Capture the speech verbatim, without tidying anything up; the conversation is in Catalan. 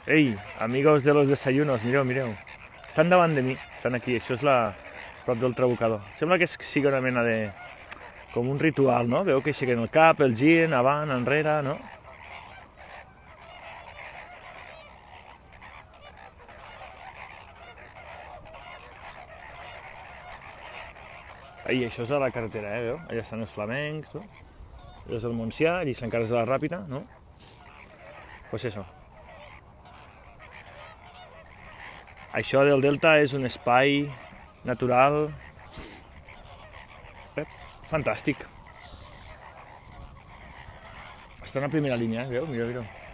Ei, amigos de los desayunos, mireu, mireu. Estan davant de mi, estan aquí, això és la prop del Trabucador. Sembla que sigui una mena de... com un ritual, no? Veu que aixequen el cap, el giren, avant, enrere, no? Ai, això és a la carretera, eh, veu? Allà estan els flamencs, no? Allà és el Montsià, allà encara és de la Ràpita, no? Pues això. Això del delta és un espai natural eh, fantàstic. Està en la primera línia, eh? Veu? Mireu, mireu.